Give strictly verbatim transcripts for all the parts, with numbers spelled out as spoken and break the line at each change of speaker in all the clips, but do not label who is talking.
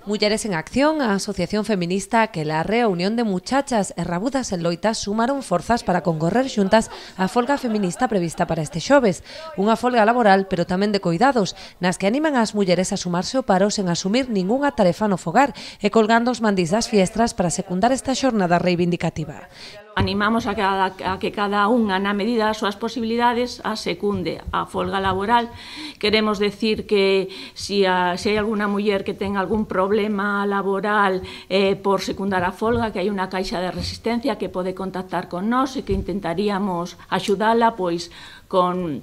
Mulleres en Acción, a asociación feminista que la Reunión de Muchachas e Rabudas en Loita sumaron forzas para concorrer xuntas á folga feminista prevista para este xoves. Unha folga laboral, pero tamén de coidados, nas que animan ás mulleres a sumarse ao paro sen asumir ningunha tarefa no fogar e colgando os mandís das fiestras para secundar esta xornada reivindicativa.
Animamos a, cada, a que cada unha, na medida das súas posibilidades, a secunde a folga laboral. Queremos decir que si, a, si hai alguna muller que ten algún problema laboral eh, por secundar a folga, que hai unha caixa de resistencia que pode contactar con nós e que intentaríamos axudala pois con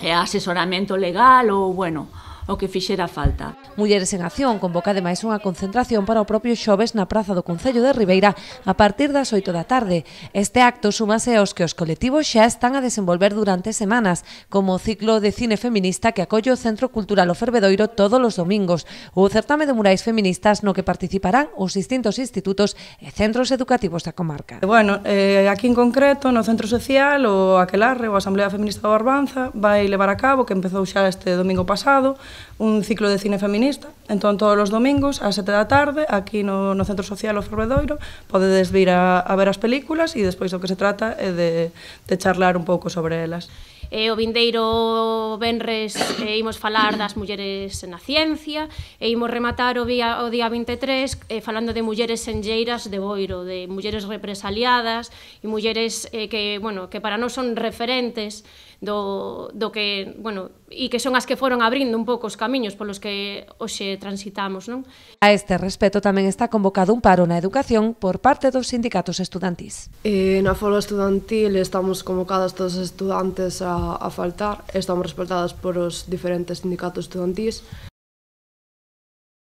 eh, asesoramento legal ou, bueno, o que fixera falta.
Mulleres en Acción convoca ademais unha concentración para o propio xoves na Praza do Concello de Ribeira a partir das oito da tarde. Este acto súmase aos que os colectivos xa están a desenvolver durante semanas, como o ciclo de cine feminista que acolle o Centro Cultural O Fervedoiro todos os domingos, ou o certame de murais feministas no que participarán os distintos institutos e centros educativos da comarca.
Bueno, eh, aquí en concreto, no Centro Social, o Aquelarre, ou a Asamblea Feminista de Barbanza, vai levar a cabo, que empezou xa este domingo pasado, un ciclo de cine feminista. Entón, todos os domingos, ás sete da tarde, aquí no, no Centro Social O Fervedoiro, podedes vir a, a ver as películas e despois o que se trata é de, de charlar un pouco sobre elas.
E o vindeiro venres e imos falar das mulleres na ciencia e imos rematar o día, o día vinte e tres eh, falando de mulleres senlleiras de Boiro, de mulleres represaliadas e mulleres eh, que, bueno, que para nós son referentes do, do que, bueno, e que son as que foron abrindo un pouco os camiños polos que hoxe transitamos, non?
A este respecto tamén está convocado un paro na educación por parte dos sindicatos estudantís.
E na folga estudantil estamos convocadas todos os estudantes a, a faltar, estamos respaldadas por os diferentes sindicatos estudantís.